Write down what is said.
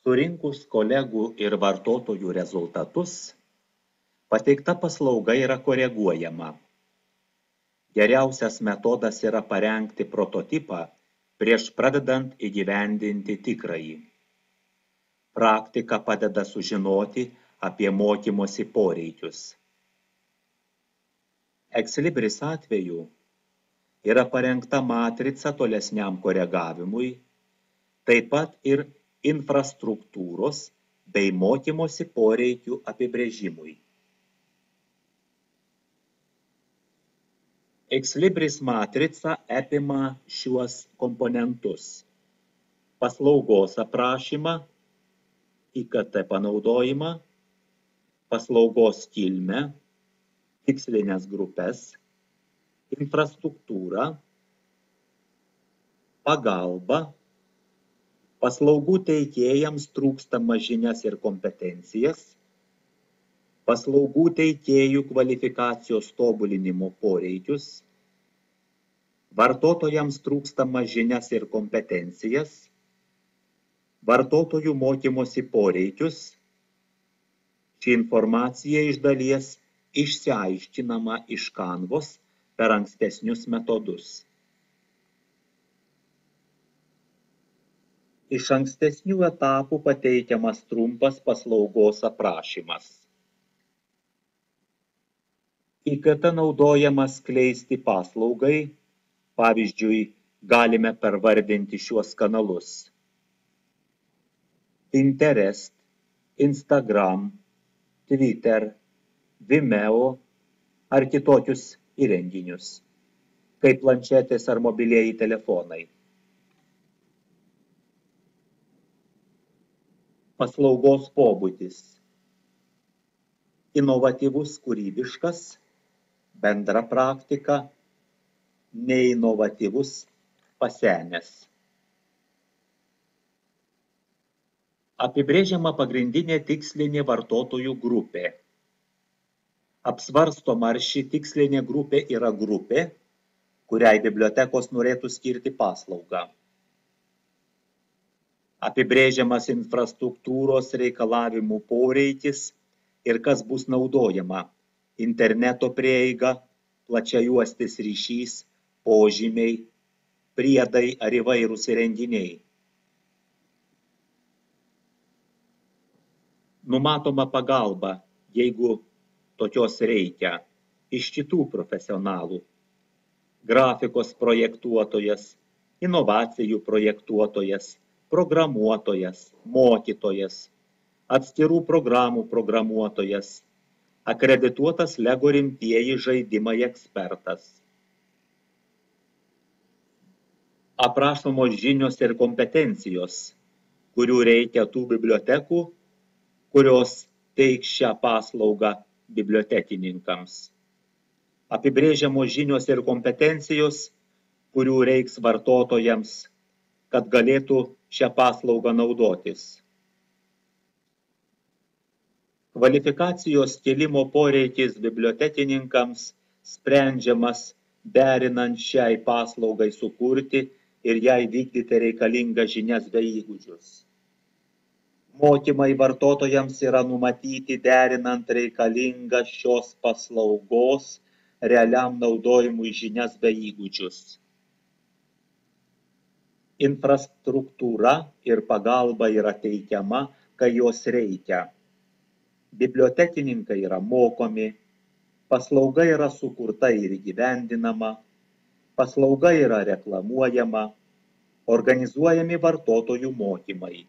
Surinkus kolegų ir vartotojų rezultatus, pateikta paslauga yra koreguojama. Geriausias metodas yra parengti prototipą prieš pradedant įgyvendinti tikrąjį. Praktika padeda sužinoti apie mokymosi poreikius. Exlibris atveju yra parengta matrica tolesniam koregavimui, taip pat ir infrastruktūros bei mokymosi poreikių apibrėžimui. Exlibris matrica apima šiuos komponentus: paslaugos aprašymą, IKT panaudojimą, paslaugos kilmę, tikslinės grupes, infrastruktūrą, pagalbą, paslaugų teikėjams trūkstamas žinias ir kompetencijas, paslaugų teikėjų kvalifikacijos tobulinimo poreikius, vartotojams trūkstamas žinias ir kompetencijas, vartotojų mokymosi poreikius. Ši informacija iš dalies išsiaiškinama iš Canvos per ankstesnius metodus. Iš ankstesnių etapų pateikiamas trumpas paslaugos aprašymas. IKT naudojamas skleisti paslaugai, pavyzdžiui, galime pervardinti šiuos kanalus: Pinterest, Instagram, Twitter, Vimeo ar kitokius įrenginius, kaip planšetės ar mobilieji telefonai. Paslaugos pobūdis: inovatyvus, kūrybiškas, bendra praktika, neinovatyvus, pasenęs. Apibrėžiama pagrindinė tikslinė vartotojų grupė. Apsvarstoma, ar ši tikslinė grupė yra grupė, kuriai bibliotekos norėtų skirti paslaugą. Apibrėžiamas infrastruktūros reikalavimų poreikis ir kas bus naudojama: interneto prieiga, plačiajuostis ryšys, požymiai, priedai ar įvairūs įrenginiai. Numatoma pagalba, jeigu tokios reikia, iš kitų profesionalų: grafikos projektuotojas, inovacijų projektuotojas, programuotojas, mokytojas, atskirų programų programuotojas, akredituotas LEGO rimtieji žaidimai ekspertas. Aprašomos žinios ir kompetencijos, kurių reikia tų bibliotekų, kurios teiks šią paslaugą bibliotekininkams. Apibrėžiamos žinios ir kompetencijos, kurių reiks vartotojams, kad galėtų šią paslaugą naudotis. Kvalifikacijos kėlimo poreikis bibliotekininkams sprendžiamas derinant šiai paslaugai sukurti ir jai vykdyti reikalingas žinias bei įgūdžius. Mokymai vartotojams yra numatyti derinant reikalingas šios paslaugos realiam naudojimui žinias bei įgūdžius. Infrastruktūra ir pagalba yra teikiama, kai jos reikia. Bibliotekininkai yra mokomi, paslauga yra sukurta ir įgyvendinama, paslauga yra reklamuojama, organizuojami vartotojų mokymai.